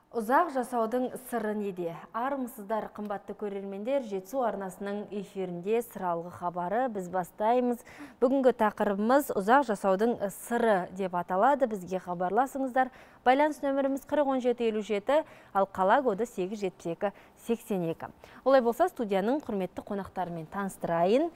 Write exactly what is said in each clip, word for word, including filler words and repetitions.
Ұзақ жасаудың сыры неде? Армысыздар, қымбатты көрермендер, Жетісу арнасының эфирінде сыралғы хабары біз бастаймыз. Бүгінгі тақырыбымыз ұзақ жасаудың сыры деп аталады. Бізге хабарласыңыздар. Байланыс нөміріміз қырық он жеті елу жеті, ал қала коды сегіз жүз жетпіс екі сексен екі. Олай болса, студияның құрметті қонақтарымен таныстырайын.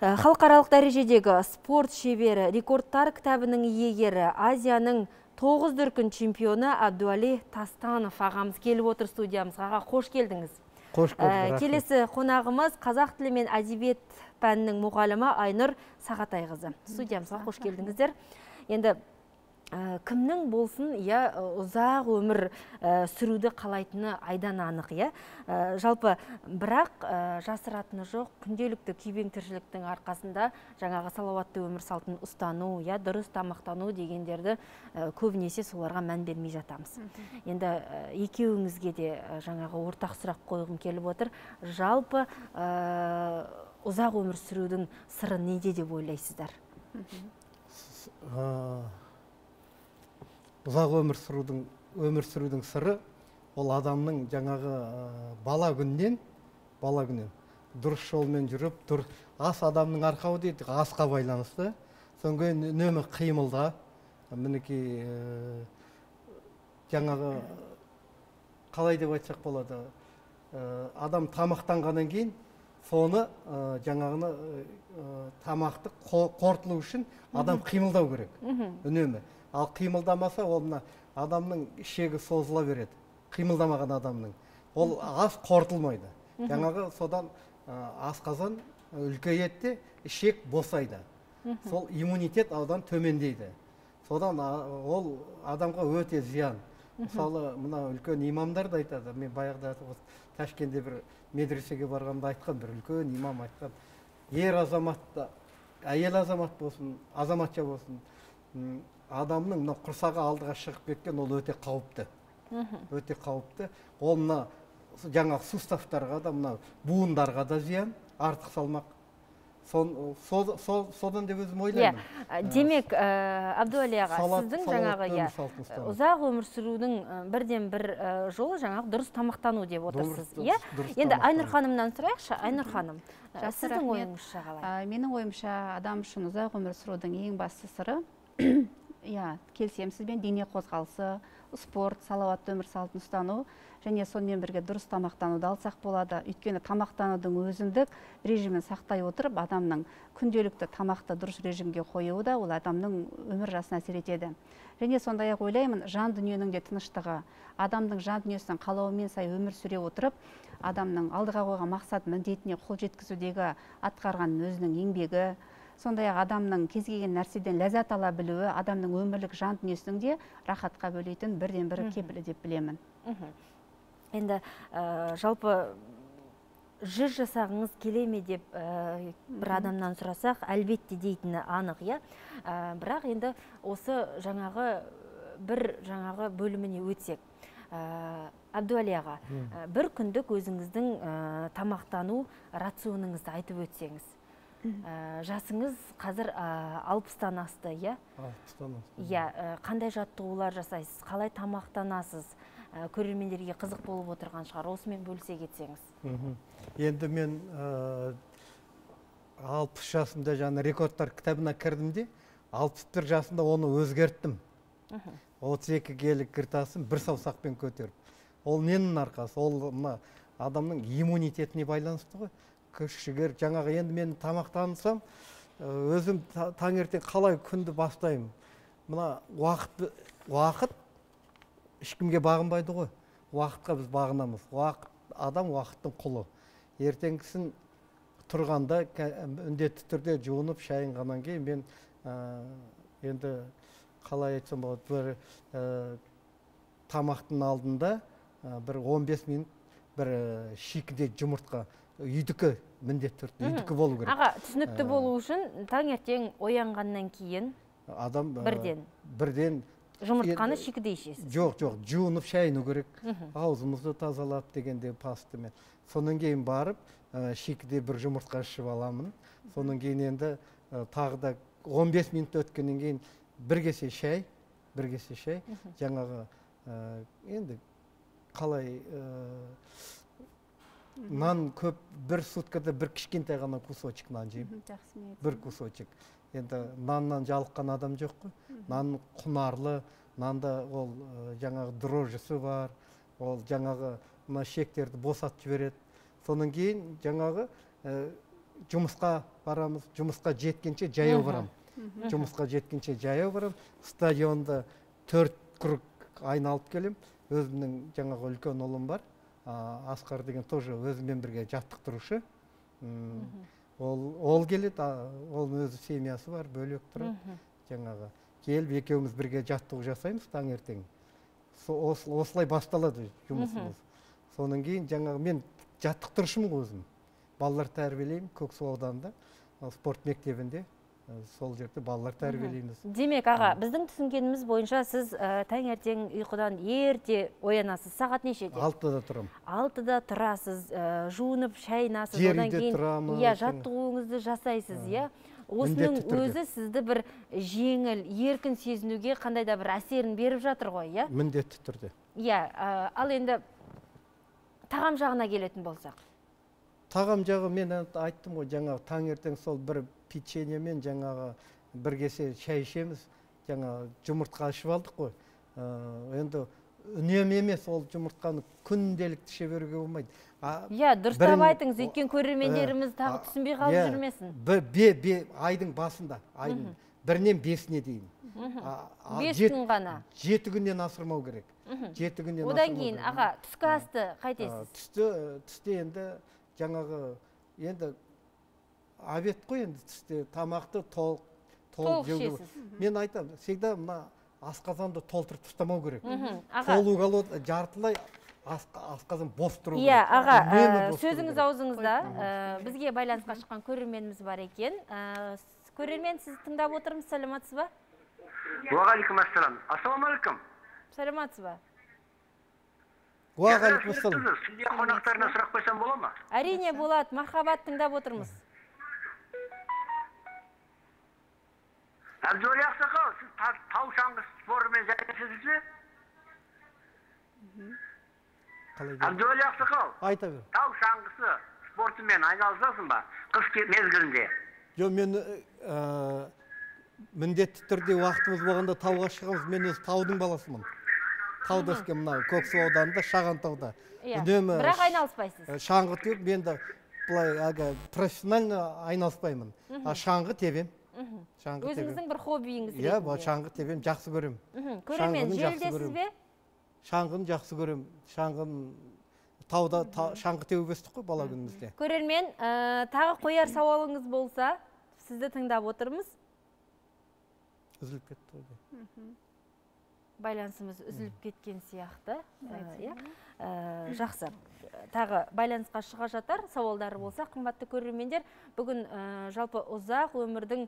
Халықаралық дәрежедегі спорт шебері, рекордтар кітабының иегері, Азияның тоғыз дүркін чемпионы Абдуали Тастанов ағамыз келіп отыр студиямызға. Аға, қош келдіңіз. Қош көрдік. Келесі қонағымыз қазақ тілі мен әдебиет пәнінің мұғалімі Айнұр Сағатайқызы. Студиямызға қош келдіңіздер. Енді кімнің болсын, я ұзақ өмір сүруді қалайтыны айдан анық, я. Жалпы, бірақ жасыратыны жоқ, күнделікті күйбең тіршіліктің арқасында жаңағы салауатты өмір салтын ұстану, я дұрыс тамақтану дегендерді көбінесе соларға мән бермей жатамыз. Енді екеуіңізге де жаңағы ортақ сұрақ қойғым келіп отыр. Жалпы ұзақ өмір сүрудің сыры неде деп ойлайсыздар? Ұзақ өмір сүрудің өмір сүрудің сыры ол адамның жаңағы бала күннен бала күннен дұрыс жолмен жүріп, дұрыс ас адамның арқауы дейді, асқа байланысты. Содан кейін үнемі қимылда, мінекей жаңағы қалай деп айтсақ болады, адам тамақтанғаннан кейін соны жаңағыны тамақты қорытылу үшін адам қимылдау керек, үнемі. Ал қимылдамаса, ол адамның ішегі созыла береді. Қимылдамаған адамның. Ол ас қорытылмайды. Жаңағы содан асқазан үлкейеді, ішек босайды. Сол иммунитет аудан төмендейді. Содан ол адамға өте зиян. Мысалы, мына үлкен имамдар да айтады. Мен баяғыда Ташкентте бір медресеге барғанда айтқан, бір үлкен имам айтқан. Ер азамат, әйел азамат болсын, азаматша болсын, адамның мына құрсағы алдыға шығып кеткен, ол өте қауіпті. Өте қауіпті. Ол мына жаңағы суставтарға да, мына буындарға да зиян, артық салмақ. Содан деп өзім ойлаймын. Демек, Абдуали аға, сіздің жаңағы ұзақ өмір сүрудің бірден бір жолы жаңағы дұрыс тамақтану деп отырсыз. Енді Айнұр ханымнан сұрайықшы. Айнұр ханым, сіздің ойыңызша қалай? Менің ойымша, адам үшін ұзақ өмір сүрудің ең басты сыры, келісемін сізбен, дене қозғалысы, спорт, салауатты өмір салтын ұстану және сонымен бірге дұрыс тамақтануды алсақ болады. Өйткені тамақтанудың өзіндік режимін сақтай отырып, адамның күнделікті тамақты дұрыс режимге қоюы да ол адамның өмір жасына әсер етеді. Және сондай-ақ ойлаймын, жан дүниенің де тыныштығы, адамның жан дүниесінің қалауымен сай өмір сүре отырып, адамның алдыға қойған мақсат міндетіне қол жеткізудегі атқарған өзінің еңбегі, сондай-ақ адамның кез келген нәрседен ләззат ала білуі, адамның өмірлік жан дүниесінің де рахатқа бөлейтін бірден бірі кепілі деп білемін. Енді жалпы жүз жасағыңыз келе ме деп бір адамнан сұрасақ, әлбетте дейтіні анық, я. Бірақ енді осы жаңағы бір жаңағы бөліміне өтсек. Абдуали аға, бір күндік өзіңіздің тамақтану рационыңызды айтып өтсеңіз. Жасыңыз қазір алпыстан асты, я? Алпыстан асты. Я, қандай жаттығулар жасайсыз, қалай тамақтанасыз, көрермендерге қызық болып отырған шығар, осымен бөлісе кетсеңіз. Енді мен алпыс жасымда жаңа рекордтар кітабына кірдім де, алпыс бір жасымда оны өзгерттім. отыз екі келі кіртасын бір саусақпен көтеріп. Ол ненің арқасы? Ол адамның иммунитетіне байланысты ғой. Күш-жігер, жаңағы енді мен тамақтансам, өзім таңертең қалай күнді бастаймын. Мына уақыт, уақыт ешкімге бағынбайды ғой. Уақытқа біз бағынамыз. Уақыт, адам уақыттың құлы. Ертеңгісін тұрғанда міндетті түрде жуынып шайынғаннан кейін мен енді қалай айтсам болады, бір тамақтың алдында бір он бес минут бір шикіде жұмыртқа, үйдікі міндетті түрде, үйдікі болу керек. Аға, түсінікті болу үшін таңертең оянғаннан кейін адам бірден бірден жұмыртқаны шикіде ішесіз? Жоқ, жоқ, жуынып шайыну керек, аузымызды тазалап дегенде пастымен. Сонан кейін барып, шикіде бір жұмыртқа ішіп аламын. Сонан кейін енді тағы да он бес минут өткеннен кейін бір кесе шай, бір кесе шай, жаңағы енді қалай нан көп, бір суткада бір кішкентай ғана кусочек нан жеймін. Жақсы ниет. Бір кусочек. Енді наннан жалыққан адам жоқ қой. Нан құнарлы, нанда ол жаңағы дрожжысы бар, ол жаңағы мына шектерді босатып жібереді. Содан кейін жаңағы жұмысқа барамыз, жұмысқа жеткенше жаяу барам. Жұмысқа жеткенше жаяу барам. Стадионда төрт круг айналып келем. Өзімнің жаңағы үлкен ұлым бар. Асқар деген тоже өзімен бірге жаттықтырушы. Ол келеді, ол өзі семьясы бар, бөлек тұрады. Жаңағы келіп екеуміз бірге жаттығу жасаймыз таңертең. Осылай басталады жұмысымыз. Содан кейін жаңағы мен жаттықтырушымын өзім. Балалар тәрбиелеймін Көксу ауданында, спорт мектебінде. Сол жерде балалар тәрбиелейміз. Демек, аға, біздің түсінгеніміз бойынша сіз таңертең ұйқыдан ерте оянасыз. Сағат нешеде? Алтыда тұрам. Алтыда тұрасыз, жуынып, шайнасыз, одан кейін иә, жаттығуыңызды жасайсыз, иә. Осының өзі сізді бір жеңіл, еркін сезінуге қандай да бір әсерін беріп жатыр ғой, иә? Міндетті түрде. Иә, ал енді тағам жағына келетін болсақ. Тағам жағы мен айттым ғой, жаңағы таңертең сол бір печенье мен жаңағы бір кесе шай ішеміз, жаңағы жұмыртқа ашып алдық қой. Енді үнемі емес ол жұмыртқаны күнделікті іше беруге болмайды. Иә, дұрыстап айтыңыз, өйткені көрермендеріміз тағы түсінбей қалып жүрмесін. Айдың басында, айдың бірінен бесіне дейін. Бес күн ғана. Жеті күннен асырмау керек. Одан кейін, аға, түскі асты қайтесіз? Түсте енді жаңағы, енді обед қой, енді түсте тамақты толық жеу. Мен айтам, всегда мына асқазанды толтырып тастамау керек. Толу қалу жартылай асқазан бос тұру керек. Иә, аға, сөзіңіз аузыңызда. Бізге байланысқа шыққан көрерменіміз бар екен. Көрермен, сіз тыңдап отырмыз, саламатсыз ба? Уағалейкум ассалам. Ассаламалейкум. Саламатсыз ба? Уағалейкум ассалам. Сізге қонақтарына сұрақ қойсам бола ма? Әрине болады, мархабат, тыңдап отырмыз. Әбдуәли ақсақал, сіз тау шаңғы спортымен айналысасыз бе? Әбдуәли ақсақал, айта бер. Тау шаңғысы спортымен айналысасың ба? Қыс мезгілінде. Жоқ, мен міндетті түрде уақытымыз болғанда тауға шығамыз. Мен өз таудың баласымын. Тауда өскен мына Көксу ауданында, Шаған тауда. Бірақ айналыспайсыз. Шаңғы теуіп, мен де былай профессионально айналыспаймын. Шаңғы тебем. Өзіңіздің бір хоббиіңіз ретінде. Иә, шаңғы тебем, жақсы көрем. Көрермен, желдесіз бе? Шаңғыны жақсы көрем. Шаңғын тауда шаңғы теуіп өстік қой бала күнімізде. Көрермен, тағы қояр сауалыңыз болса, сізді тыңдап отырмыз. Үзіліп кетті ғой. Байланысымыз үзіліп кеткен сияқты. Жақсы. Тағы байланысқа шыға жатар сауалдары болса, қымбатты көрермендер, бүгін жалпы ұзақ өмірдің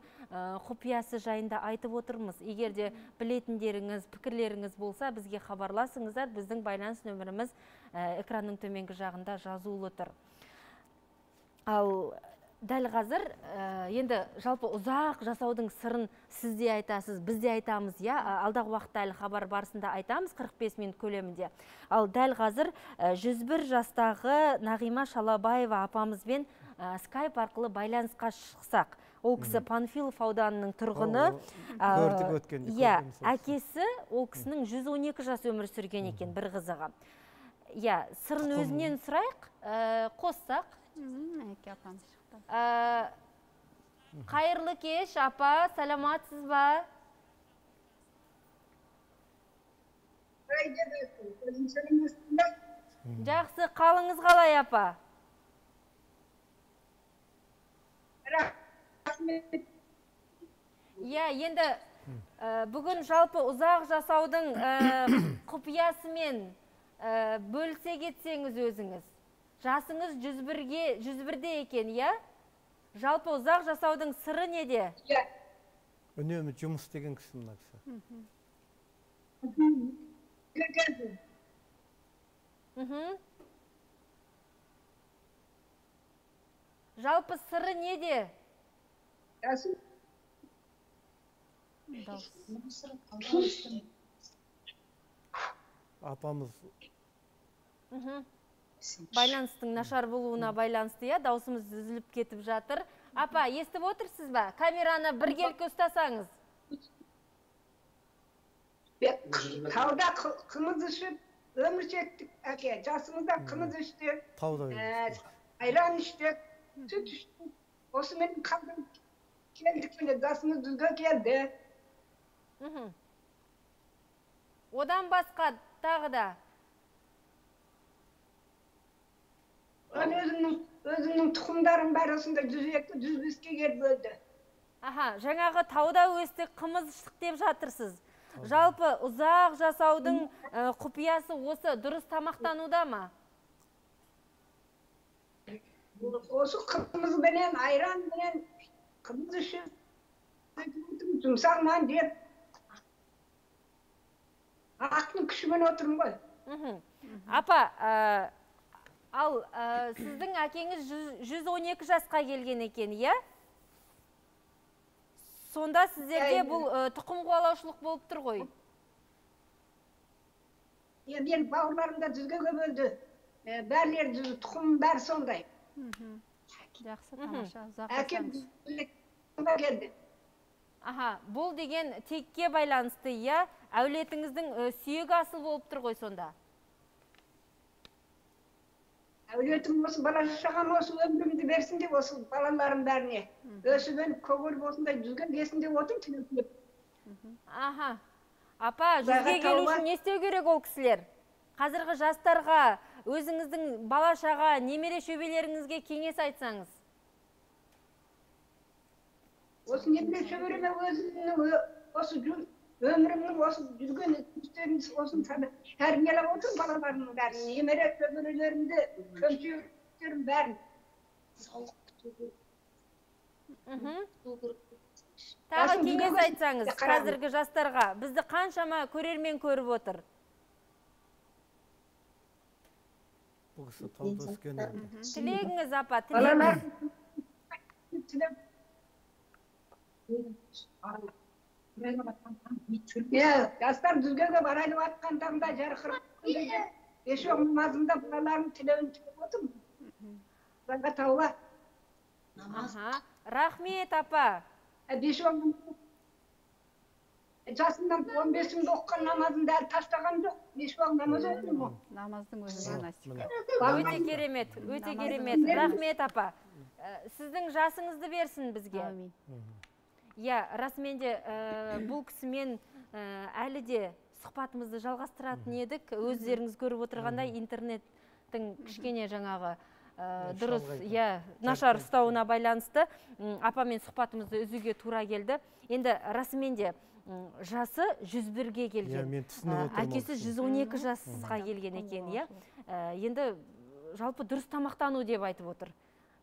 құпиясы жайында айтып отырмыз. Егер де білетіндеріңіз, пікірлеріңіз болса, бізге хабарласыңыздар. Біздің байланыс нөміріміз экранның төменгі жағында жазулы тұр. Ал дәл қазір, енді жалпы ұзақ жасаудың сырын сізде айтасыз, бізде айтамыз, я, алдағы уақытта әлі хабар барысында айтамыз, қырық бес минут көлемінде. Ал дәл қазір жүз бір жастағы Нағима Шалабаева апамызбен скайп арқылы байланысқа шықсақ. Ол кісі Панфилов ауданының тұрғыны. Көрдік өткенде. Иә, әкесі ол кісінің жүз он екі жас өмір сүрген екен, бір қызығы. Иә, сырын өзінен сұрайық, қоссақ. Әке апам шықты. Қайырлы кеш, апа, саламатсыз ба? Жақсы, қалыңыз қалай, апа? Иә, енді бүгін жалпы ұзақ жасаудың құпиясымен бөлісе кетсеңіз өзіңіз. Жасыңыз жүз бірде екен, иә? Жалпы ұзақ жасаудың сыры неде? Үнемі жұмыс деген кісі мына кісі. Жалпы сыры неде? Апамыз Байланыстың нашар болуына байланысты, я, даусымыз үзіліп кетіп жатыр. Апа, естіп отырсыз ба? Камераны біргелкі ұстасаңыз. Тауда қымыз ішіп, өмір шектік, әке. Жасымызда қымыз іштік, айран іштік, сүт іштік. Осымен қалдың келдік, жасымыз дүзге келді. Одан басқа тағы да? Өзімнің тұқымдарым бар осында жүз екі жүз беске келіп өлді. Аха, жаңағы тауда өстік, қымыз іштік деп жатырсыз. Жалпы ұзақ жасаудың құпиясы осы дұрыс тамақтануда ма? Осы қымыз бенен, айран бенен, қымыз ішіп, жұмсақ нан деп, ақтың күшімен отырмын ғой. Апа, ал сіздің әкеңіз жүз он екі жасқа келген екен, иә? Сонда сіздерде бұл тұқым қуалаушылық болып тұр ғой? Мен бауырларымда жүзге көп өлді. Бәрлер жүз, тұқым бәрі сондай. Жақсы, тамаша, ұзақ Әкем жасаңыз. келді. Аха, бұл деген текке байланысты, иә? Әулетіңіздің сүйегі асыл болып тұр ғой сонда? Әулетім осы бала шағам осы өмірімді берсін деп осы балаларым бәріне. Өсімен көгір болсындай жүзге келсін деп отыр тілеп. Аха. Апа, жүзге келу үшін не істеу керек ол кісілер? Қазіргі жастарға, өзіңіздің бала шаға, немере шөбелеріңізге кеңес айтсаңыз? Осы немере шөбереме өзімнің осы өмірімнің осы жүрген үстерін осын тәрбиелеп отыр балаларымның бәрін, немере шөберелерімді, көмшелерім бәрін. Тағы кеңес айтсаңыз қазіргі жастарға, бізді қаншама көрермен көріп отыр? Тілегіңіз, апа, тілегіңіз. Жастар дүзгеге барайлы атқан таңда жарқырып еші оңмазымда балаларым тілеуін тілеп отырмын. Жаңға тауға. Рахмет, апа. Жасымдан он бесімді оққан намазымды әлі таштаған жоқ. Еші оң намаз оқын мұ? Намаздың өзі монастика. Өте керемет, өте керемет. Рахмет, апа. Сіздің жасыңызды берсін бізге. Амин. Иә, расыменде бұл кісімен әлі де сұхбатымызды жалғастыратын едік. Өздеріңіз көріп отырғандай интернеттің кішкене жаңағы дұрыс, нашар ұстауына байланысты апамен сұхбатымызды үзуге тура келді. Енді расыменде жасы жүз бірге келген. Әкесі жүз он екі жасқа келген екен. Енді жалпы дұрыс тамақтану деп айтып отыр.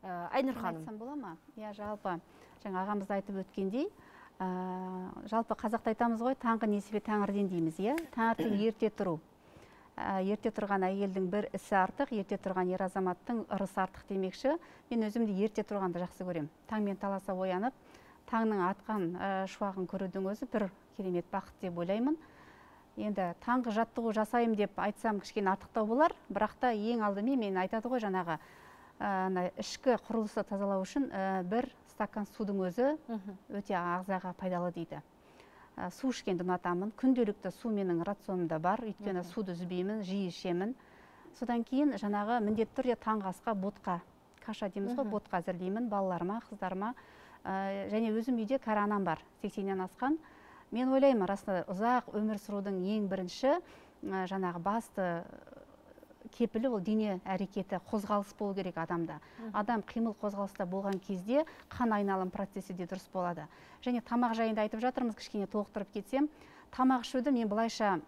Айнұр ханым. Айтсам бола ма? Иә, жалпы жаңа ағамыз айтып өткендей, жалпы қазақта айтамыз ғой, таңғы несібе тәңірден дейміз, иә? Таңертең ерте тұру. Ерте тұрған әйелдің бір ісі артық, ерте тұрған ер азаматтың ырысы артық демекші. Мен өзімді ерте тұрғанды жақсы көрем. Таңмен таласа оянып, таңның атқан шуағын көрудің өзі бір керемет бақыт деп ойлаймын. Енді таңғы жаттығу жасайым деп айтсам кішкене артықтау болар, бірақ та ең алдымен мен айтады ғой жаңағы ішкі құрылысты тазалау үшін бір стакан судың өзі өте ағзаға пайдалы дейді. Су ішкенді ұнатамын. Күнделікті су менің рационымда бар, өйткені суды үзбеймін, жиі ішемін. Содан кейін жаңағы міндетті түрде таңғы асқа ботқа, каша дейміз ғой, ботқа әзірлеймін балаларыма, қыздарыма. Және өзім үйде кәрі анам бар, сексеннен асқан. Мен ойлаймын, расында ұзақ өмір сүрудің ең бірінші жаңағы басты кепілі ол дене әрекеті, қозғалыс болу керек адамда. Адам қимыл қозғалыста болған кезде қан айналым процесі де дұрыс болады. Және тамақ жайында айтып жатырмыз, кішкене толықтырып кетсем, тамақ ішуді мен былайша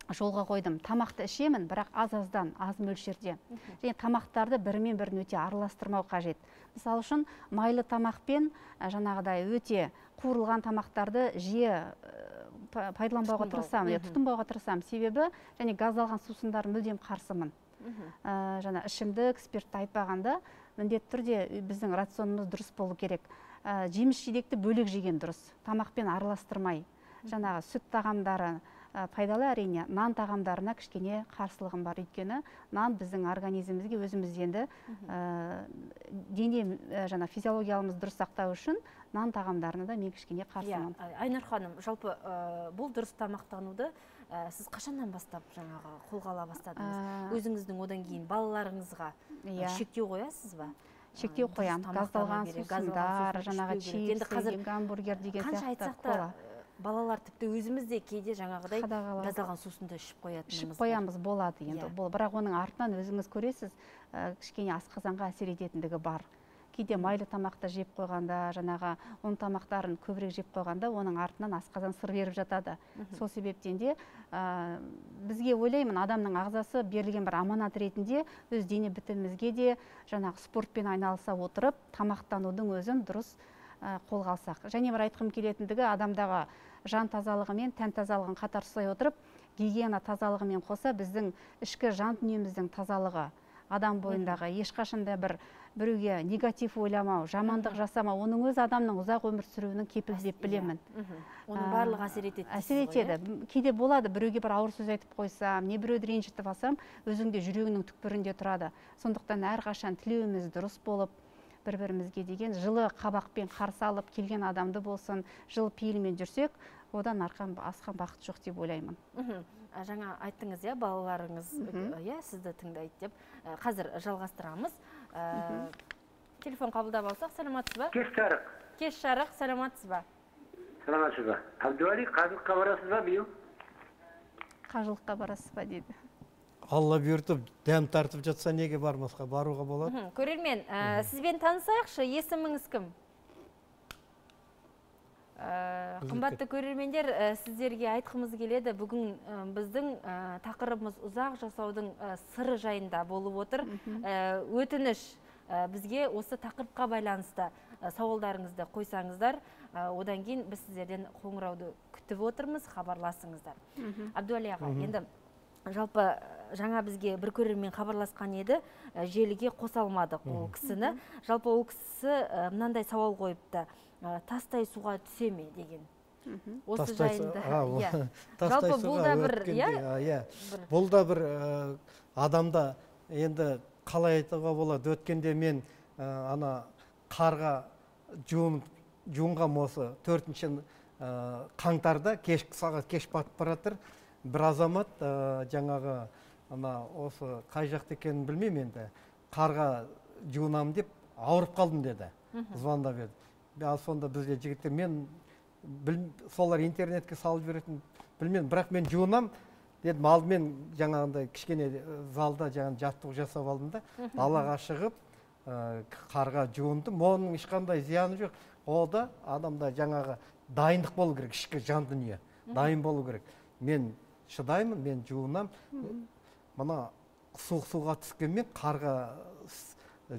жолға қойдым. Тамақты ішемін, бірақ аз-аздан, аз мөлшерде. Және тамақтарды бірімен бірін өте араластырмау қажет. Мысалы үшін майлы тамақпен жаңағыдай өте қуырылған тамақтарды жиі пайдаланбауға тырысамын, тұтынбауға тырысамын. Себебі және газдалған сусындар мүлдем қарсымын. Жаңа ішімдік, спиртті айтпағанда, міндетті түрде біздің рационымыз дұрыс болу керек. Жеміс жидекті бөлек жеген дұрыс. Тамақпен араластырмай. Жаңағы сүт тағамдары, пайдалы әрине. Нан тағамдарына кішкене қарсылығым бар, өйткені нан біздің организмімізге өзіміз енді дене жаңа физиологиялымыз дұрыс сақтау үшін нан тағамдарына да мен кішкене қарсымын. Айнұр ханым, жалпы бұл дұрыс тамақтануды сіз қашаннан бастап жаңағы қолға ала бастадыңыз? Өзіңіздің одан кейін балаларыңызға шектеу қоясыз ба? Шектеу қоямын. Газдалған сусындар, жаңағы чипсы, гамбургер деген сияқты кола. Балалар тіпті өзіміз де кейде жаңағыдай газдалған сусынды ішіп қоятынымыз. Ішіп қоямыз, болады енді. Бірақ оның артынан өзіңіз көресіз, кішкене асқазанға әсер ететіндігі бар. Кейде майлы тамақты жеп қойғанда, жаңағы ұн тамақтарын көбірек жеп қойғанда, оның артынан асқазан сыр беріп жатады. Сол себептен де бізге ойлаймын, адамның ағзасы берілген бір аманат ретінде өз дене бітімімізге де жаңағы спортпен айналыса отырып, тамақтанудың өзін дұрыс қолға алсақ. Және бір айтқым келетіндігі, адамдағы жан тазалығы мен тән тазалығын қатар ұстай отырып, гигиена тазалығымен қоса біздің ішкі жан дүниеміздің тазалығы, адам бойындағы ешқашанда бір біреуге негатив ойламау, жамандық жасамау, оның өз адамның ұзақ өмір сүруінің кепілі деп білемін. Оның барлығы әсер етеді. Әсер етеді. Кейде болады, біреуге бір ауыр сөз айтып қойсам, не біреуді ренжітіп алсам, өзіңде жүрегінің түкпірінде тұрады. Сондықтан әрқашан тілеуіміз дұрыс болып, бір-бірімізге деген жылы қабақпен қарсы алып келген адамды болсын, жылы пейілмен жүрсек, одан арқан асқан бақыт жоқ деп ойлаймын. Жаңа айттыңыз, иә, балаларыңыз сізді тыңдайды деп. Қазір жалғастырамыз. Телефон қабылдап алсақ, саламатсыз ба? Кеш жарық. Кеш жарық, саламатсыз ба? Саламатсыз ба? Әбдуәли, қажылыққа барасыз ба биыл? Қажылыққа барасыз ба дейді. Алла бұйыртып, дәм тартып жатса неге бармасқа, баруға болады. Көрермен, сізбен танысайықшы, есіміңіз кім? Қымбатты көрермендер, сіздерге айтқымыз келеді, бүгін біздің тақырыбымыз ұзақ жасаудың сыры жайында болып отыр. Өтініш, бізге осы тақырыпқа байланысты сауалдарыңызды қойсаңыздар, одан кейін біз сіздерден қоңырауды күтіп отырмыз, хабарласыңыздар. Әбдуәли аға, енді жалпы жаңа бізге бір көрермен хабарласқан еді, желіге қоса алмадық ол кісіні. Жалпы ол кісі мынандай сауал қойыпты, тастай суға түсе ме деген. Осы жайында. Жалпы бұл да бір, бұл да бір адамда енді қалай айтуға болады, өткенде мен ана қарға жуынғам осы төртінші қаңтарда, кешкі сағат кеш батып баратыр. Бір азамат жаңағы осы қай жақты екенін білмеймін енді, қарға жуынам деп ауырып қалдым деді, звондап еді. Ал сонда бізде жігіттер, мен солар интернетке салып беретін білмеймін, бірақ мен жуынам дедім, алдымен жаңағындай кішкене залда жаттығу жасап алдым да, далаға шығып қарға жуындым, оның ешқандай зияны жоқ. Ол да адамда жаңағы дайындық болу керек, ішкі жан дүние дайын болу керек. Мен шыдаймын, мен жуынам. Мына суық суға түскенмен қарға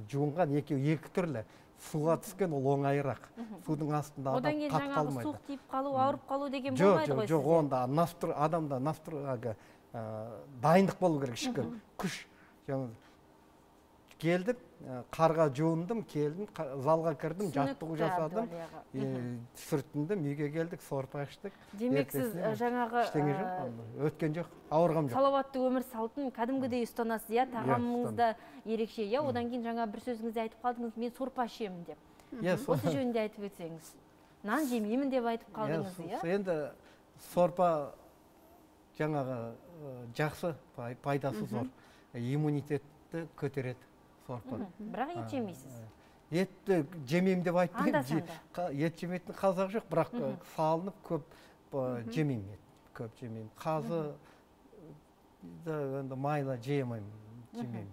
жуынған екі түрлі. Суға түскен ол оңайырақ. Судың астында адам қатып қалмайды. Одан кейін жаңағы суық тиіп қалу, ауырып қалу деген болмайды ғой сізде? Жоқ, онда адамда настрояға дайындық болу керек, ішкі күш. Келдім, қарға жуындым, келдім, залға кірдім, жаттығу жасадым, сүрттіндім, үйге келдік, сорпа іштік. Демек сіз жаңағы өткен жоқ, ауырғам жоқ. Салауатты өмір салтын кәдімгідей ұстанасыз, иә, тағамыңызда ерекше, иә, одан кейін жаңа бір сөзіңізде айтып қалдыңыз, мен сорпа ішемін деп. Осы жөнінде айтып өтсеңіз. Нан жемеймін деп айтып қалдыңыз, иә? Енді сорпа жаңағы жақсы, пайдасы зор, иммунитетті көтереді. Бірақ ет жемейсіз? Етті жемеймін деп айтпаймын. Ет жемейтін қазақ жоқ, бірақ салынып көп жемеймін, көп жемеймін. Қазы майлы жемеймін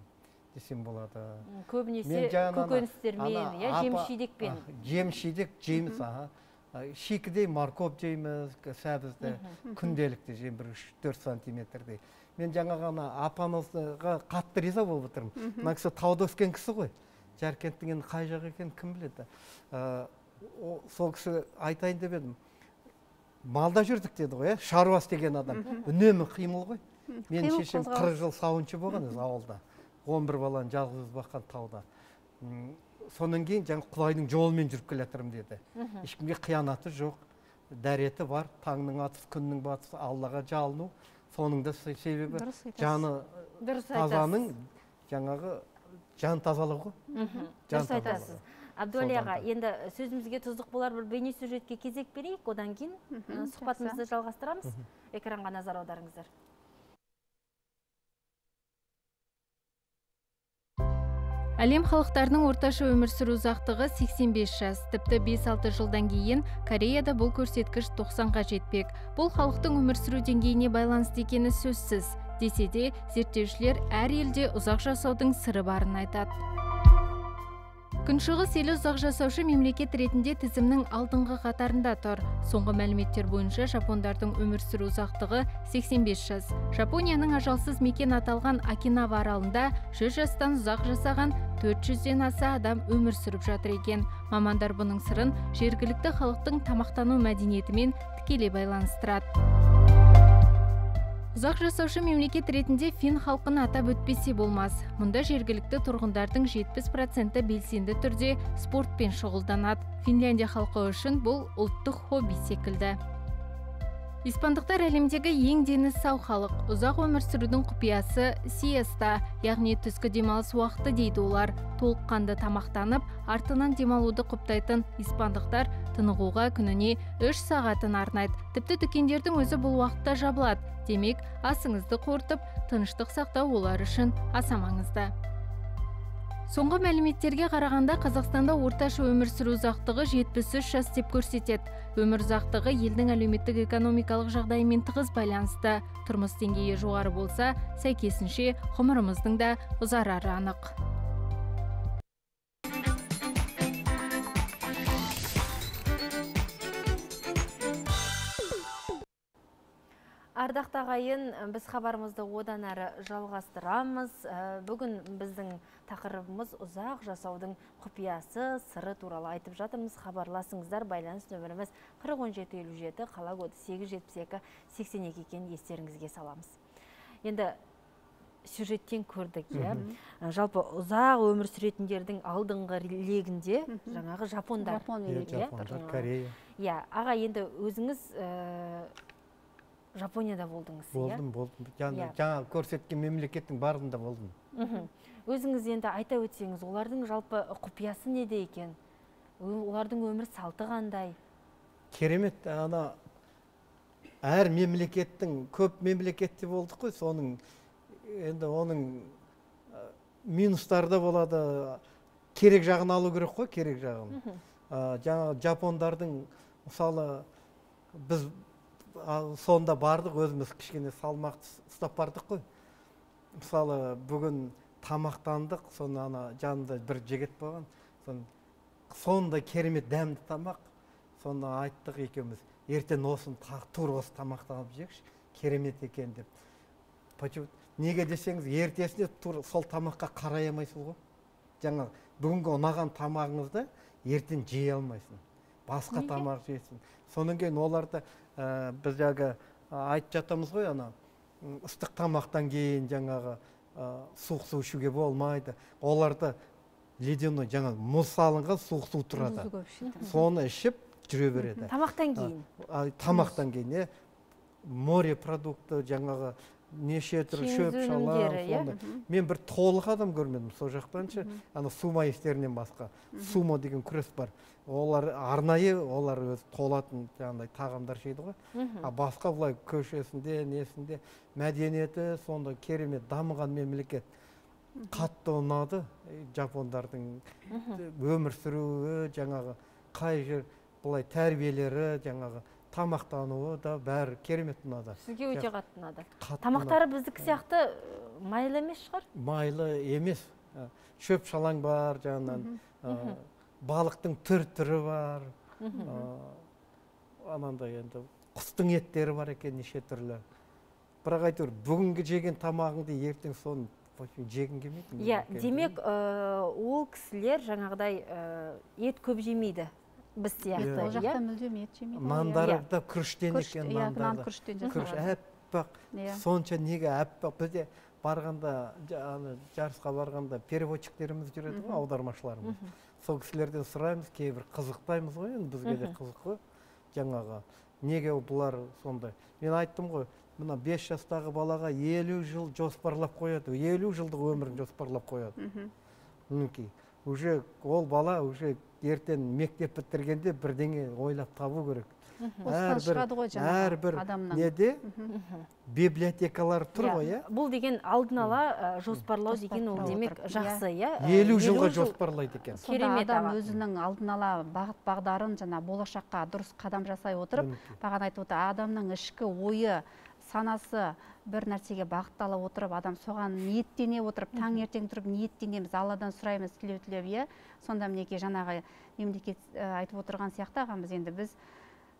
десем болады. Көбінесе көкөністермен, жеміс-жидекпен. Жеміс-жидек жейміз, шикідей морковь жейміз, сәбізді күнделікті жеймін, бір үш төрт сантиметрдей. Мен жаңа ғана апамызға қатты риза болып отырмын. Мына кісі тауда өскен кісі ғой. Жаркенттің енді қай жақ екенін кім біледі. Сол кісі айтайын деп едім. Малда жүрдік деді ғой, шаруас деген адам. Үнемі қимыл ғой. Мен шешем қырық жыл сауыншы болған еді ауылда. он бір баланы жалғыз баққан тауда. Сонан кейін жаңа Құдайдың жолымен жүріп келе жатырмын деді. Ешкімге қиянаты жоқ. дәреті бар. Таңның атысы, күннің батысы, Аллаға жалыну. Соның да себебі жаны тазаның жаңағы жан тазалығы. Дұрыс айтасыз. Абдуали аға, енді сөзімізге тұздық болар бір бейне сюжетке кезек берейік, одан кейін сұхбатымызды жалғастырамыз. Экранға назар аударыңыздар. Әлем халықтарының орташа өмір сүру ұзақтығы сексен бес жас, тіпті бес алты жылдан кейін Кореяда бұл көрсеткіш тоқсанға жетпек. Бұл халықтың өмір сүру деңгейіне байланысты екені сөзсіз. Десе де, зерттеушілер әр елде ұзақ жасаудың сыры барын айтады. Күншығыс елі ұзақ жасаушы мемлекет ретінде тізімнің алдыңғы қатарында тұр. Соңғы мәліметтер бойынша жапондардың өмір сүру ұзақтығы сексен бес жас. Жапонияның ажалсыз мекен аталған Окинава аралында жүз жастан ұзақ жасаған төрт жүзден аса адам өмір сүріп жатыр екен. Мамандар бұның сырын жергілікті халықтың тамақтану мәдениетімен тікелей байланыстырады. Ұзақ жасаушы мемлекет ретінде фин халқын атап өтпесе болмас. Мұнда жергілікті тұрғындардың жетпіс проценті белсенді түрде спортпен шұғылданады. Финляндия халқы үшін бұл ұлттық хобби секілді. Испандықтар әлемдегі ең дені сау халық. Ұзақ өмір сүрудің құпиясы сиеста, яғни түскі демалыс уақыты дейді олар. Толыққанды тамақтанып, артынан демалуды құптайтын испандықтар тынығуға күніне үш сағатын арнайды. Тіпті дүкендердің өзі бұл уақытта жабылады. Демек, асыңызды қорытып, тыныштық сақтау олар үшін аса маңызды. Соңғы мәліметтерге қарағанда Қазақстанда орташа өмір сүру ұзақтығы жетпіс үш жас деп көрсетеді. Өмір ұзақтығы елдің әлеуметтік экономикалық жағдайымен тығыз байланысты. Тұрмыс деңгейі жоғары болса, сәйкесінше ғұмырымыздың да ұзарары анық. Ардақты ағайын, біз хабарымызды одан әрі жалғастырамыз. Бүгін біздің тақырыбымыз ұзақ жасаудың құпиясы, сыры туралы айтып жатырмыз. Хабарласыңыздар, байланыс нөміріміз қырық он жеті елу жеті, қала коды сегіз жүз жетпіс екі сексен екі екенін естеріңізге саламыз. Енді сюжеттен көрдік, иә. Жалпы ұзақ өмір сүретіндердің алдыңғы легінде жаңағы жапондар. Жапондар, Корея. Иә, аға, енді өзіңіз Жапонияда болдыңыз, иә? Болдым, болдым. Жаңа көрсеткен мемлекеттің барында болдым. Өзіңіз енді айта өтсеңіз, олардың жалпы құпиясы неде екен? Олардың өмір салты қандай? Керемет, ана әр мемлекеттің, көп мемлекетте болдық қой, соның енді оның минустары да болады, керек жағын алу керек қой, керек жағын. Жаңа жапондардың, мысалы, біз сонда бардық, өзіміз кішкене салмақты ұстап бардық қой. Мысалы, бүгін тамақтандық, соны ана жанында бір жігіт болған. Сонда керемет дәмді тамақ. Соны айттық екеуміз. Ертең осын тур осы тамақтанып жекші, керемет екен деп. Неге десеңіз, ертесіне тур сол тамаққа қарай алмайсыз ғой. Жаңа бүгінгі ұнаған тамағыңызды ертең жей алмайсың. Басқа тамақ жейсің. Сонан кейін оларды біз жаңағы айтып жатамыз ғой, ана ыстық тамақтан кейін жаңағы суық су ішуге болмайды. Оларды ледяной жаңа мұз салынған суық су тұрады. Соны ішіп жүре береді. Тамақтан кейін. Тамақтан кейін, море продукты жаңағы неше түрлі шөп шалар. Мен бір толық адам көрмедім сол жақтаншы. Ана сума естерінен басқа. Сумо деген күрес бар. Олар арнайы, олар өз толатын жаңағыдай тағамдар жейді ғой. А басқа бұлай көшесінде, несінде мәдениеті сонда керемет дамыған мемлекет. Қатты ұнады жапондардың өмір сүруі, жаңағы қай жер бұлай тәрбиелері, жаңағы тамақтануы да бәрі керемет ұнады. Сізге өте қатты ұнады. Тамақтары біздікі сияқты майлы емес шығар? Майлы емес. Шөп шалаң бар, жаңынан балықтың түр-түрі бар. Анандай енді құстың еттері бар екен неше түрлі. Бірақ айтыр, бүгінгі жеген тамағыңды ертең соны жегін келмейді. Иә, демек ол кісілер жаңағыдай ет көп жемейді. Біз сияқты. Ол жақта мүлдем ет жемейді. Нандары да күріштен екен. Нан күріштен жасалады. Әппақ. Сонша неге әппақ. Бізде барғанда, жарысқа барғанда переводчиктеріміз жүреді ғой, аудармашыларымыз. Сол кісілерден сұраймыз, кейбір қызықтаймыз ғой, бізге де қызық қой. жаңағы неге бұлар сондай. Мен айттым ғой, мына бес жастағы балаға елу жыл жоспарлап қояды, елу жылдық өмірін жоспарлап қояды. Мінекей, уже ол бала уже ертең мектеп бітіргенде бірдеңе ойлап табу керек. Әрбір неде библиотекалар тұр ғой, иә? Бұл деген алдын ала жоспарлау деген ол демек жақсы, иә? елу жылға жоспарлайды екен. Сонда адам өзінің алдын ала бағыт бағдарын жаңа болашаққа дұрыс қадам жасай отырып, бағана айтып отыр, адамның ішкі ойы, санасы бір нәрсеге бағыттала отырып, адам соған ниеттене отырып, таңертең тұрып ниеттенеміз, Алладан сұраймыз, тілеу-тілеп, иә? Сонда мінекей жаңағы мемлекет айтып отырған сияқты ағамыз, енді біз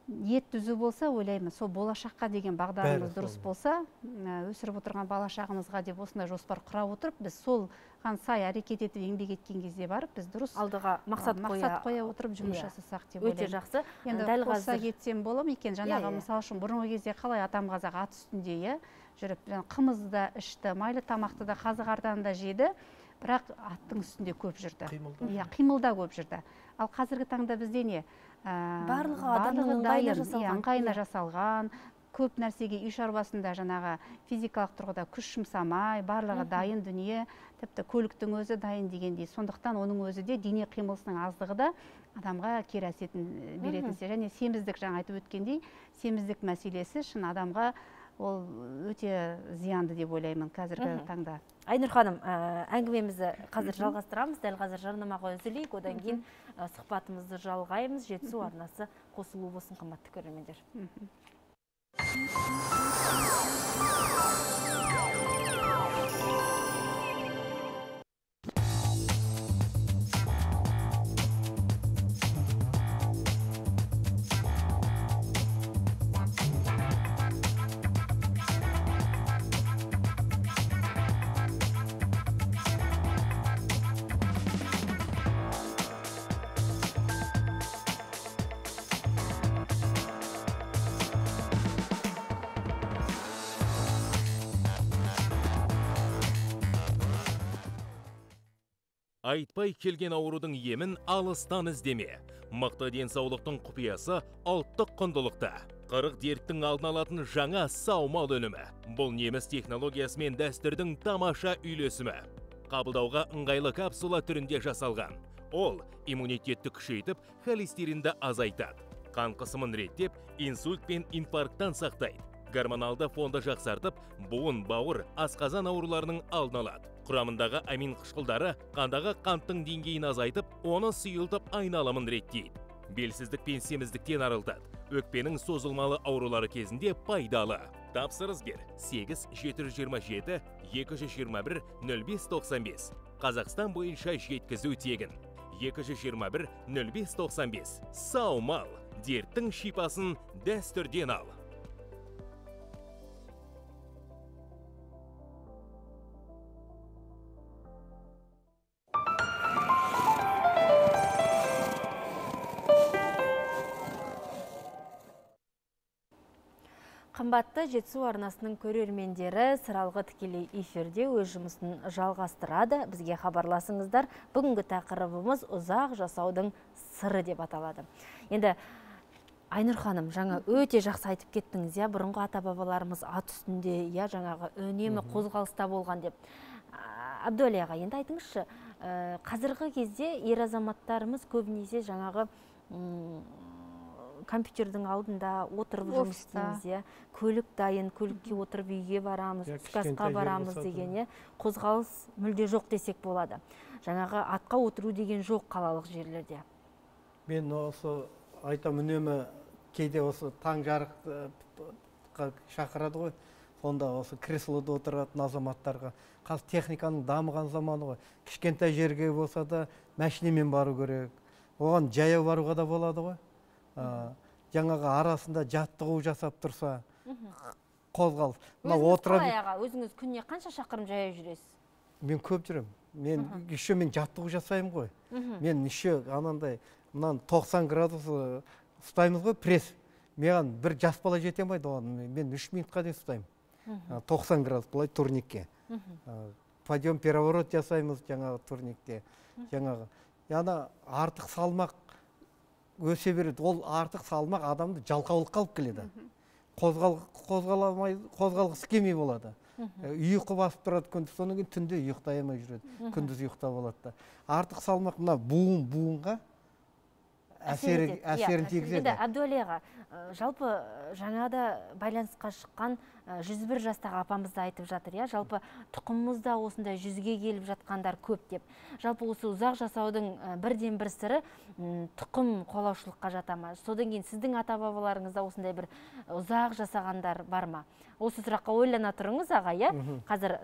ниет түзу болса, ойлаймыз, сол болашаққа деген бағдарымыз дұрыс болса, өсіріп отырған балашағымызға деп осындай жоспар құра отырып, біз сол ған сай әрекет етіп еңбек еткен кезде барып, біз дұрыс алдыға мақсат қоя отырып жұмыс жасасақ деп Өте ойлаймын. жақсы. Енді қоса кетсем болам екен, жаңағы мысалы үшін бұрынғы кезде қалай атам қазақ ат үстінде, иә, жүріп, қымызды да ішті, майлы тамақты да қазы-қардан да жеді, бірақ аттың үстінде көп жүрді. Иә, қимылда көп жүрді. Ал қазіргі таңда бізде не? Барлығы адамның ыңғайына жасалған, көп нәрсеге үй шаруасында жаңағы физикалық тұрғыда күш жұмсамай, барлығы дайын дүние, тіпті көліктің өзі дайын дегендей. Сондықтан оның өзі де дене қимылысының аздығы да адамға кері әсерін беретін. Және семіздік, жаңа айтып өткендей, семіздік мәселесі шын адамға ол өте зиянды деп ойлаймын қазіргі таңда. Айнұр ханым, әңгімемізді қазір жалғастырамыз, дәл қазір жарнамаға үзілейік, одан кейін сұхбатымызды жалғаймыз. Жетісу арнасы қосылу болсын, қымбатты көрермендер. Айтпай келген аурудың емін алыстан іздеме. Мықты денсаулықтың құпиясы ұлттық құндылықта. Қырық дерттің алдын алатын жаңа саумал өнімі. Бұл неміс технологиясы мен дәстүрдің тамаша үйлесімі. Қабылдауға ыңғайлы капсула түрінде жасалған. Ол иммунитетті күшейтіп, холестеринді азайтады. Қан қысымын реттеп, инсульт пен инфаркттан сақтайды. Гормоналды фонды жақсартып, буын, бауыр, асқазан ауруларының алдын алады. Құрамындағы амин қышқылдары қандағы қанттың деңгейін азайтып, оны сұйылтып айналымын реттейді. Белсіздік пен семіздіктен арылтады. Өкпенің созылмалы аурулары кезінде пайдалы. Тапсырыс бер сегіз жеті жүз жиырма жеті екі жүз жиырма бір нөл бес тоқсан бес. Қазақстан бойынша жеткізу тегін. екі жүз жиырма бір нөл бес тоқсан бес. Саумал, дерттің шипасын дәстүрден ал. Қымбатты Жетісу арнасының көрермендері, сыралғы тікелей эфирде өз жұмысын жалғастырады. Бізге хабарласыңыздар. Бүгінгі тақырыбымыз ұзақ жасаудың сыры деп аталады. Енді Айнұр ханым, жаңа өте жақсы айтып кеттіңіз, я, бұрынғы ата-бабаларымыз ат үстінде, я, жаңағы үнемі қозғалыста болған деп. Әбдуәли аға, енді айтыңызшы, қазіргі кезде ер азаматтарымыз көбінесе жаңағы компьютердің алдында отырып жұмыс істейміз, көлік дайын, көлікке отырып үйге барамыз, түскі барамыз деген, қозғалыс мүлде жоқ десек болады. Жаңағы атқа отыру деген жоқ қалалық жерлерде. Мен осы айтам, үнемі кейде осы таң жарыққа шақырады ғой, сонда осы креслода отыратын азаматтарға. Қазір техниканың дамыған заманы ғой, кішкентай жерге болса да машинамен бару керек, оған жаяу баруға да болады ғой. Жаңағы арасында жаттығу жасап тұрса, қозғалыс. Өзіңіз қалай аға, өзіңіз күнне қанша шақырым жаяу жүресіз? Мен көп жүрем. Мен еще мен жаттығу жасаймын ғой. Мен еще анандай тоқсан градус ұстаймыз ғой, пресс. Мен бір жас бала жете алмайды оған. Мен үш минутқа дейін ұстаймын. тоқсан градус былай турникке. Подъем переворот жасаймыз жаңағы турникте. Жаңағы. Яна артық салмақ өсе береді. Ол артық салмақ адамды жалқаулыққа алып келеді. Қозғаламай, қозғалғысы келмей болады. Ұйқы басып тұрады күндіз, содан кейін түнде ұйықтай алмай жүреді. Күндіз ұйықтап алады. Артық салмақ мына буын буынға әсерін тигізеді. Енді Әбдуәли аға, жалпы жаңада байланысқа шыққан жүз бір жастағы апамызды айтып жатыр, иә, жалпы тұқымымызда осындай жүзге келіп жатқандар көп деп. Жалпы осы ұзақ жасаудың бірден бір сыры тұқым қолаушылыққа жата ма? Содан кейін сіздің ата-бабаларыңызда осындай бір ұзақ жасағандар бар ма? Осы сұраққа ойлана тұрыңыз аға, иә? Қазір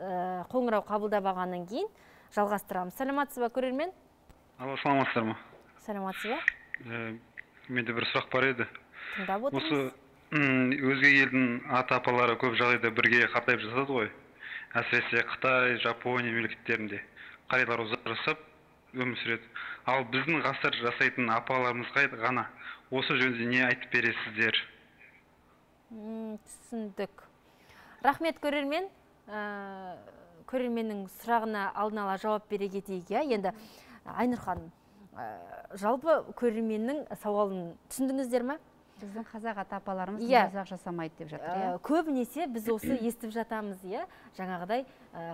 қоңырау қабылдап алғаннан кейін жалғастырамыз. Саламатсыз ба, көрермен? Алло, саламатсыздар ма? Саламатсыз ба? Менде бір сұрақ бар еді. Тыңдап отырмыз. Өзге елдің ата-апалары көп жағдайда бірге қартайып жасады ғой. Әсіресе Қытай, Жапония мемлекеттерінде қариялар ұзақ жасап өмір сүреді. Ал біздің ғасыр жасайтын апаларымызға ғана осы жөнінде не айтып бересіздер? Түсіндік. Рахмет, көрермен. Көрерменнің сұрағына алдын ала жауап бере кетейік. Енді Айнұр ханым, жалпы көрерменнің сауалын түсіндіңіздер ме? Біздің қазақ ата-апаларымыз ұзақ жасамайды деп жатыр. Көбінесе біз осы естіп жатамыз, жаңағыдай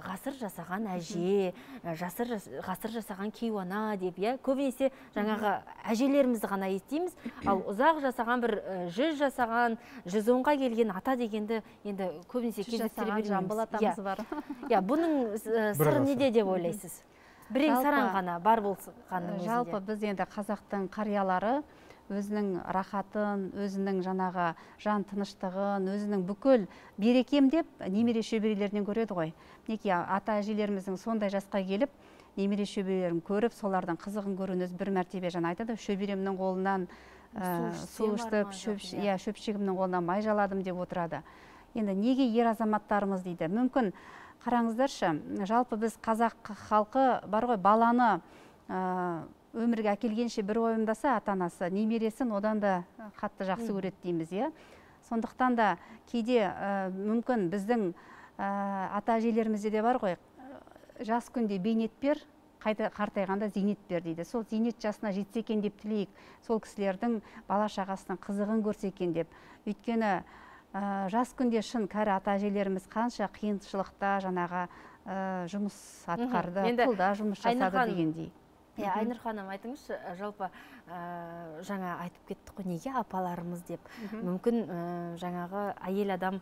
ғасыр жасаған әже, ғасыр жасаған кейуана деп, көбінесе жаңағы әжелерімізді ғана естиміз, ал ұзақ жасаған бір жүз жасаған, жүз онға келген ата дегенді енді көбінесе кездестіре бермейміз. Жамбыл атамыз бар. Бұның сыры неде деп ойлайсыз? Бірең саран ғана бар болғанның өзінде. Жалпы біз енді қазақтың қариялары өзінің рахатын, өзінің жаңағы жан тыныштығын, өзінің бүкіл берекем деп немере шөберелерінен көреді ғой. Неке ата әжелеріміздің сондай жасқа келіп, немере шөберелерін көріп, солардың қызығын көруіңіз бір мәртебе жан айтады. Шөберемнің қолынан су іштіп, шөпшегімнің қолынан май жаладым деп отырады. Енді неге ер азаматтарымыз дейді? Мүмкін қараңыздаршы, жалпы біз қазақ халқы бар ғой, баланы өмірге әкелгенше бір ойымдаса ата-анасы, немересін одан да қатты жақсы көреді дейміз, е. Сондықтан да кейде мүмкін біздің ата-әжелерімізде де бар ғой, жас күнде бейнет бер, қартайғанда зейнет бер дейді. Сол зейнет жасына жетсе екен деп тілейік, сол кісілердің бала шағасының қызығын көрсе екен деп. Өйткені жас күнде шын кәрі ата-әжелеріміз қанша қиыншылықта жаңағы жұмыс атқарды, тылда жұмыс жасады дегендей. Айнұр ханым, айтыңызшы, жалпы жаңа айтып кеттік қой, неге апаларымыз деп. Мүмкін жаңағы әйел адам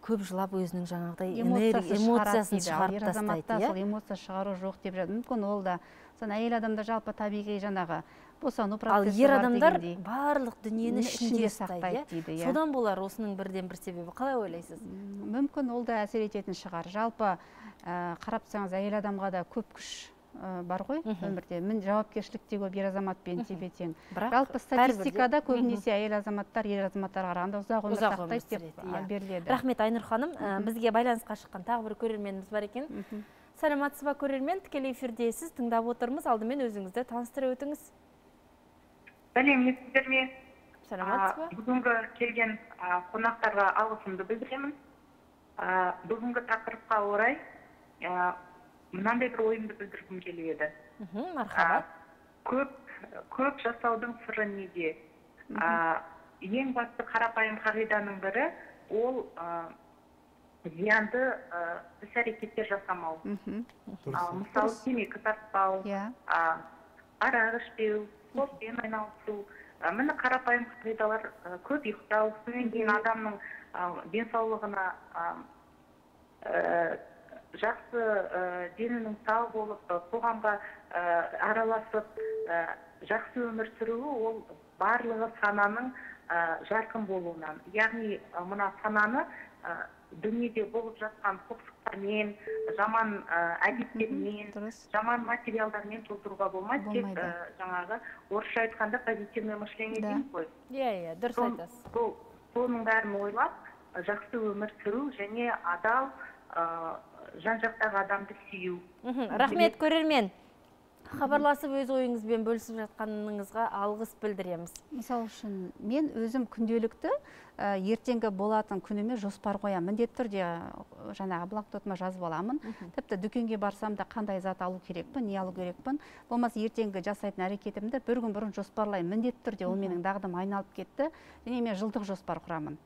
көп жылап өзінің жаңағыдай эмоциясын шығарып тастайды. Ер азаматта сол эмоция шығару жоқ деп жатыр. Мүмкін ол да, сон әйел адамда жалпы табиғи жаңағы босану процесі бар дегендей. Ал ер адамдар барлық дүниені ішінде сақтайды дейді. Содан болар осының бірден бір себебі. Қалай ойлайсыз? Мүмкін ол да әсер ететін шығар. Жалпы қарап тұрсаңыз, әйел адамға да көп күш бар ғой өмірде. Мін жауапкершілік те көп ер азаматпен тепе-тең. Жалпы статистикада көбінесе әйел азаматтар ер азаматтарға қарағанда ұзақ өмір сақтайды деп беріледі. Рахмет, Айнұр ханым. Бізге байланысқа шыққан тағы бір көрерменіміз бар екен. Саламатсыз ба, көрермен? Тікелей эфирдесіз, тыңдап отырмыз. Алдымен өзіңізді таныстыра өтіңіз. Сәлеметсіздер ме? Саламатсыз ба? Бүгінгі келген қонақтарға алғысымды білдіремін. Бүгінгі тақырыпқа орай мынандай бір ойымды білдіргім келеді. Мархабат. Көп жасаудың сыры неде? Ең басты қарапайым қағиданың бірі ол зиянды іс-әрекеттер жасамау. Мысалы, темекі тартпау, арақ ішпеу, спортпен айналысу. Міне қарапайым қағидалар, көп ұйықтау, содан кейін адамның денсаулығына жақсы денінің сау болып, қоғамға араласып, жақсы өмір сүруі ол барлығы сананың жарқын болуынан. Яғни мына сананы дүниеде болып жатқан құқсықтармен, жаман әдеттермен, жаман материалдармен толтыруға болмайды. Тек жаңағы орысша айтқанда позитивное мышление дейміз ғой. Иә, иә, дұрыс айтасыз. Соның бәрін ойлап, жақсы өмір сүру және адал жан-жақтағы адамды сүю. Рахмет, көрермен. Хабарласып өз ойыңызбен бөлісіп жатқаныңызға алғыс білдіреміз. Мысалы үшін мен өзім күнделікті ертеңгі болатын күніме жоспар қоямын. Міндетті түрде жаңағы блокнотыма жазып аламын. Тіпті дүкенге барсам да қандай зат алу керекпін, не алу керекпін. Болмаса ертеңгі жасайтын әрекетімді бір күн бұрын жоспарлаймын. Міндетті түрде ол менің дағдым айналып кетті. Және мен жылдық жоспар құрамын.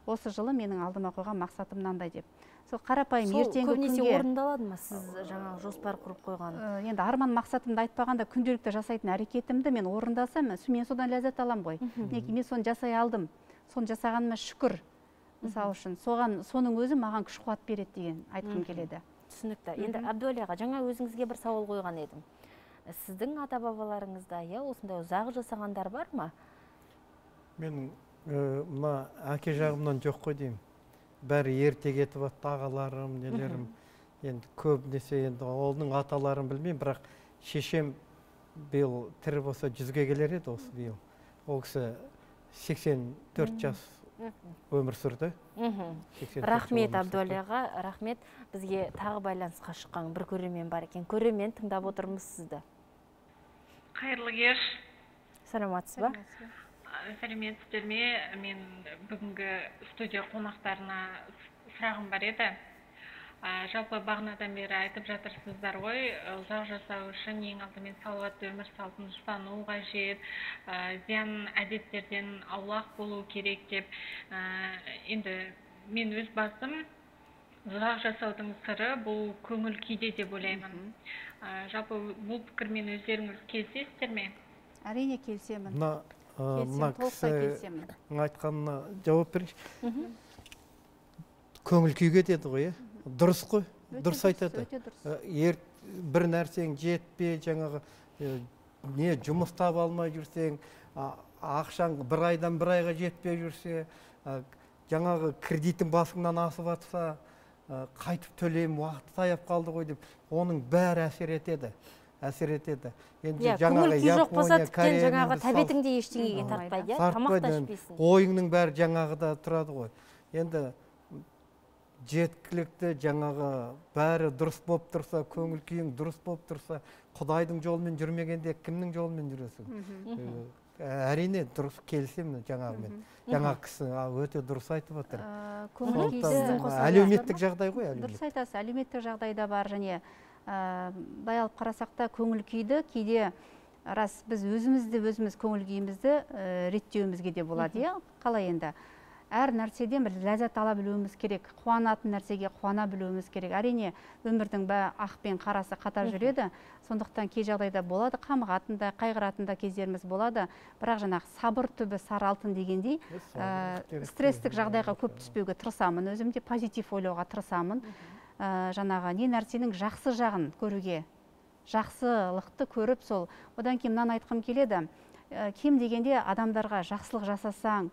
Осы жылы менің алдыма қойған мақсатым мынандай деп. Сол қарапайым ертеңгі күнге. Сол көбінесе орындалады ма сіз жаңағы жоспар құрып қойған? Енді арман мақсатымды айтпағанда күнделікті жасайтын әрекетімді мен орындасам, мен содан ләззат алам ғой. Неге мен соны жасай алдым. Соны жасағаныма шүкір. Мысалы үшін соған соның өзі маған күш қуат береді деген айтқым келеді. Түсінікті. Енді Әбдуәли аға, жаңа өзіңізге бір сауал қойған едім. Сіздің ата-бабаларыңызда осындай ұзақ жасағандар бар ма? Менің мына әке жағымнан жоқ қой деймін. Бәрі ерте кетіп атты, ағаларым, нелерім. Енді көбінесе енді олның аталарын білмеймін, бірақ шешем биыл тірі болса жүзге келер еді осы биыл. Ол кісі сексен төрт жас өмір сүрді. Рахмет Әбдуәли аға, рахмет. Бізге тағы байланысқа шыққан бір көрермен бар екен. Көрермен, тыңдап отырмыз сізді. Қайырлы кеш. Саламатсыз ба? Сәлеметсіздер ме? Мен бүгінгі студия қонақтарына сұрағым бар еді. Жалпы бағанадан бері айтып жатырсыздар ғой, ұзақ жасау үшін ең алдымен салауатты өмір салтын ұстану қажет, зиян әдеттерден аулақ болу керек деп. Енді мен өз басым ұзақ жасаудың сыры бұл көңіл күйде деп ойлаймын. Жалпы бұл пікірмен өздеріңіз келісесіздер ме? Әрине келісемін. Мына кісі айтқанына жауап беріңізші. Көңіл күйге деді ғой, дұрыс қой, дұрыс айтады. Бір нәрсең жетпе, жаңағы не жұмыс таба алмай жүрсең, ақшаң бір айдан бір айға жетпей жүрсе, жаңағы кредитің басыңнан асып атса, қайтып төлейм, уақыт таяп қалды ғой деп, оның бәрі әсер етеді. әсер етеді. Көңіл күй жоқ болса тіптен жаңағы тәбетіңде ештеңеге тартпайды, тамақ та ішпейсің. Ойыңның бәрі жаңағы да тұрады ғой. Енді жеткілікті жаңағы бәрі дұрыс болып тұрса, көңіл күйің дұрыс болып тұрса, Құдайдың жолымен жүрмегенде кімнің жолымен жүресің? Әрине дұрыс келісемін жаңағымен. Жаңағы кісі өте дұрыс айтып отыр. Әлеуметтік жағдай ғой. Дұрыс айтасыз, әлеуметтік жағдайда бар және былай алып қарасақ та көңіл күйді кейде рас біз өзімізді өзіміз көңіл күйімізді реттеуімізге де болады. Қалай енді? Әр нәрседен бір ләззат ала білуіміз керек, қуанатын нәрсеге қуана білуіміз керек. Әрине өмірдің бәрі ақ пен қарасы қатар жүреді. Сондықтан кей жағдайда болады, қамығатын да, қайғыратын да кездеріміз болады. Бірақ жаңағы сабыр түбі сары алтын дегендей, стресстік жағдайға көп түспеуге тырысамын. Өзімде позитив ойлауға тырысамын. Жаңағы не нәрсенің жақсы жағын көруге, жақсылықты көріп сол. Одан кейін мынаны айтқым келеді. Кем дегенде адамдарға жақсылық жасасаң,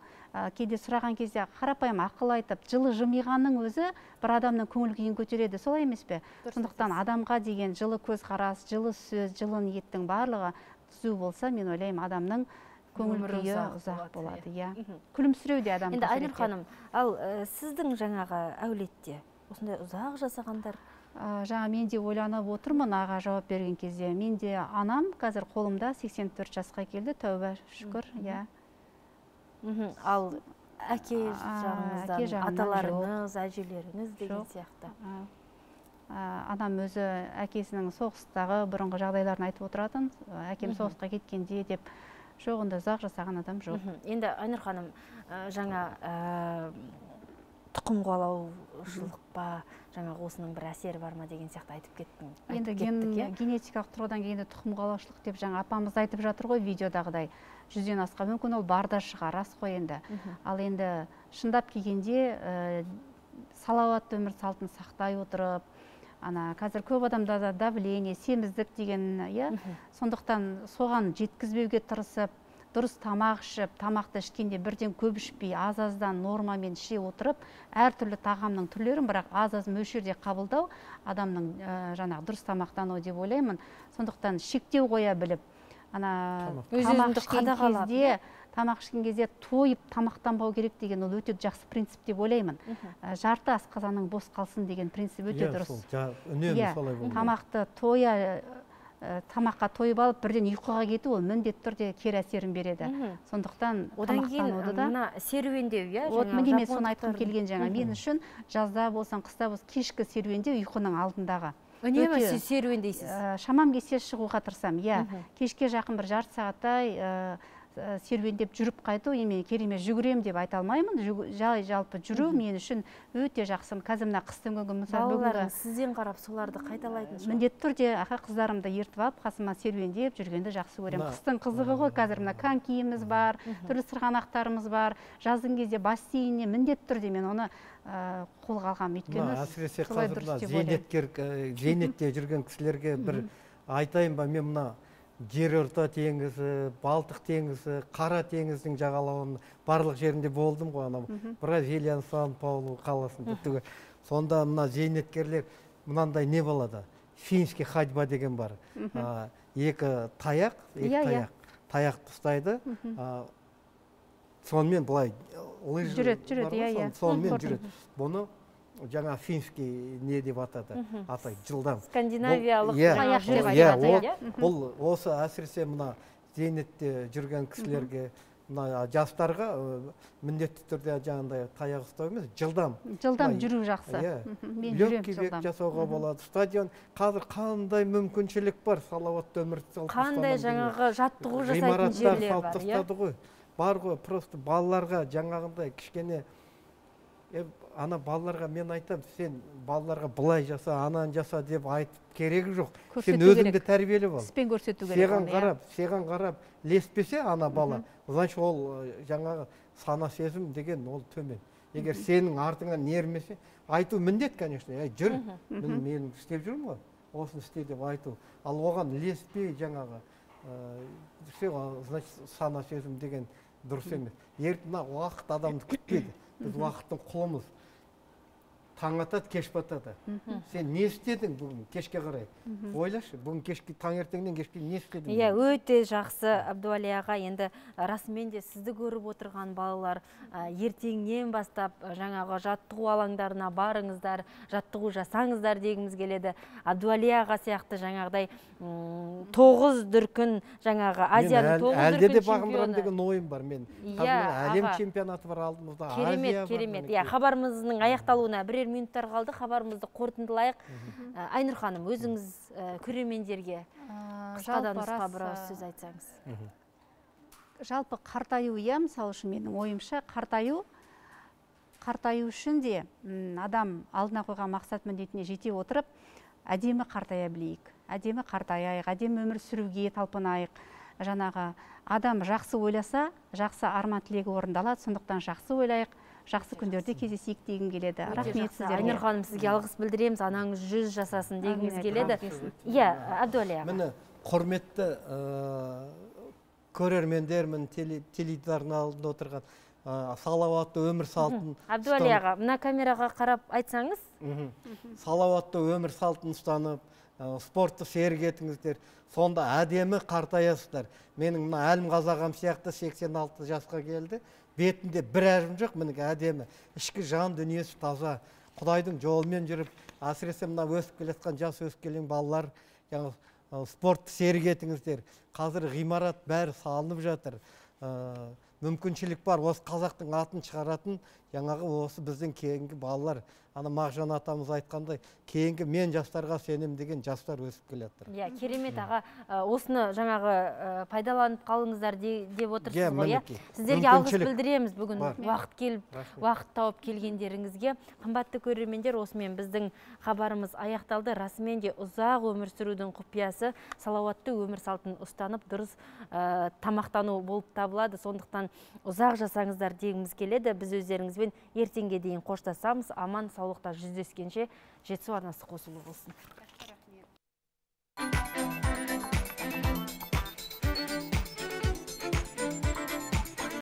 кейде сұраған кезде қарапайым ақыл айтып, жылы жымиғанның өзі бір адамның көңіл күйін көтереді. Солай емес пе? Сондықтан адамға деген жылы көзқарас, жылы сөз, жылы ниеттің барлығы түзу болса, мен ойлаймын, адамның көңіл күйі ұзақ болады. Күлімсіреу де адам. Енді Айнұр ханым, ал сіздің жаңағы әулетте осындай ұзақ жасағандар? Жаңа мен де ойланып отырмын аға жауап берген кезде. Мен де анам қазір қолымда сексен төрт жасқа келді, тәуба шүкір. Ал әке жағыңыздан, аталарыңыз, әжелеріңіз деген сияқты? Анам өзі әкесінің соғыстағы бұрынғы жағдайларын айтып отыратын, әкем соғысқа кеткенде деп, жоқ, онда ұзақ жасаған адам жоқ. Енді Айнұр ханым, жаңа тұқым қуалаушылық па, жаңағы осының бір әсері бар ма деген сияқты айтып кеттің. Енді генетикалық тұрғыдан келгенде тұқым қуалаушылық деп жаңа апамыз айтып жатыр ғой видеодағыдай. Жүзден асқан мүмкін ол бар да шығар, рас қой енді. Ал енді шындап келгенде салауатты өмір салтын сақтай отырып, ана қазір көп адамда да давление, семіздік деген, сондықтан соған жеткізбеуге тырысып, дұрыс тамақ ішіп, тамақты ішкенде бірден көп ішпей, аз-аздан нормамен іше отырып, әртүрлі тағамның түрлерін, бірақ аз-аз мөлшерде қабылдау адамның жаңағы дұрыс тамақтану деп ойлаймын. Сондықтан шектеу қоя біліп, ана тамақ ішкен кезде, тамақ ішкен кезде тойып тамақтанбау керек деген ол өте жақсы принцип деп ойлаймын. Жарты асқазанның бос қалсын деген принцип өте дұрыс. Үнемі солай болу. Тамақты тоя тамаққа тойып алып бірден ұйқыға кету ол міндетті түрде кері әсерін береді. Сондықтан одан кейін тамақтануды да мына серуендеу, иә, вот міне мен соны айтқым келген жаңа. Мен үшін жазда болсын, қыста болсын кешкі серуендеу ұйқының алдындағы. Үнемі сіз серуендейсіз? Шамам келсе шығуға тырысамын. Иә, кешке жақын бір жарты сағаттай серуендеп жүріп қайту, емен керемет жүгірем деп айта алмаймын. Жай жалпы жүру мен үшін өте жақсы. Қазір мына қыстың күні мысалы балаларың сізден қарап соларды қайталайтын шығар. Міндетті түрде аға қыздарымды ертіп алып, қасыма серуендеп жүргенді жақсы көремін. Қыстың қызығы ғой, қазір мына конькиіміз бар, түрлі сырғанақтарымыз бар. Жаздың кезде бассейніне міндетті түрде мен оны қолға алғам. Өйткені әсіресе қазір зейнеткер зейнетте жүрген кісілерге бір айтайын ба, мен мына Жерорта теңізі, Балтық теңізі, Қара теңіздің жағалауының барлық жерінде болдым ғой, анау Бразилияның Сан-Паулу қаласында. Сонда мына зейнеткерлер мынандай не болады? Финский ходьба деген бар. Екі таяқ, екі таяқ, таяқты ұстайды. Сонымен былай лыж бар, сонымен жүреді. Бұны жаңа финский не деп атады, атай жылдам. Скандинавиялық таяқ деп атайды. Бұл осы әсіресе мына зейнетте жүрген кісілерге, мына жастарға міндетті түрде жаңағындай таяқ ұстау емес, жылдам. Жылдам жүру жақсы. Легкий жасауға болады. Стадион қазір қандай мүмкіншілік бар, салауатты өмір салтын қандай жаңағы жаттығу жасайтын жерлер бар, иә? Бар ғой, просто балаларға жаңағындай кішкене ана балаларға мен айтам, сен балаларға былай жаса, анан жаса деп айтып керегі жоқ. Сен өзіңді тәрбиелеп ал. Іспен көрсету керек. Сеған қарап, сеған қарап леспесе ана бала, значит ол жаңағы сана сезім деген ол төмен. Егер сенің артыңнан нермесе, айту міндет, конечно, жүр, мен істеп жүрмін ғой, осыны істе деп айту. Ал оған леспей жаңағы, значит сана сезім деген дұрыс емес. Ертең уақыт адамды күтпейді. Біз уақыттың құлымыз. Таң атады, кеш батады. Сен не істедің бүгін кешке қарай? Ойлашы, бүгін кешке таңертеңнен кешке не істедің? Иә, өте жақсы Абдуали аға. Енді расымен де сізді көріп отырған балалар ертеңнен бастап жаңағы жаттығу алаңдарына барыңыздар, жаттығу жасаңыздар дегіміз келеді. Абдуали аға сияқты жаңағыдай тоғыз дүркін жаңағы Азияның тоғыз дүркін чемпионы. Әлде де бағындырам деген ойым бар мен. Әлем чемпионаты бар алдымызда. Керемет, керемет. Иә, хабарымыздың аяқталуына бірер минуттар қалды, хабарымызды қорытындылайық. Айнұр ханым, өзіңіз көрермендерге қысқадан нұсқа бір сөз айтсаңыз. Жалпы қартаю, иә, мысалы үшін менің ойымша, қартаю қартаю үшін де адам алдына қойған мақсат міндетіне жете отырып, әдемі қартая білейік, әдемі қартаяйық, әдемі өмір сүруге талпынайық. Жаңағы адам жақсы ойласа, жақсы арман тілегі орындалады, сондықтан жақсы ойлайық, жақсы күндерде кездесейік дегім келеді. Рахмет сіздерге. Айнұр ханым, сізге алғыс білдіреміз, анаңыз жүз жасасын дегіміз келеді. Иә, Абдуали аға. Міне, құрметті көрермендермін, теледидардың алдында отырған салауатты өмір салтын. Абдуали аға, мына камераға қарап айтсаңыз. Салауатты өмір салтын ұстанып, спортты серік етіңіздер. Сонда әдемі қартаясыздар. Менің мына Әлім Қазағам сияқты сексен алты жасқа келді. Бетінде бір әжім жоқ, мінекі әдемі. Ішкі жан дүниесі таза. Құдайдың жолымен жүріп, әсіресе мына өсіп келеткен жас өсіп келген балалар, спортты серік етіңіздер. Қазір ғимарат бәрі салынып жатыр. Мүмкіншілік бар, осы қазақтың атын шығаратын, жаңағы осы біздің кейінгі балалар. Ана Мағжан атамыз айтқандай, кейінгі мен жастарға сенем деген жастар өсіп келетір. Иә, керемет аға, осыны жаңағы пайдаланып қалыңыздар деп отырсыз ғой, иә? Сіздерге алғыс білдіреміз бүгін уақыт келіп, уақыт тауып келгендеріңізге. Қымбатты көрермендер, осымен біздің хабарымыз аяқталды. Расымен де ұзақ өмір сүрудің құпиясы салауатты өмір салтын ұстанып, дұрыс тамақтану болып табылады. Сондықтан ұзақ жасаңыздар дегіміз келеді. Біз өздеріңізбен ертеңге дейін қоштасамыз. Аман саулықта жүздескенше жетісу арнасы қосулы болсын.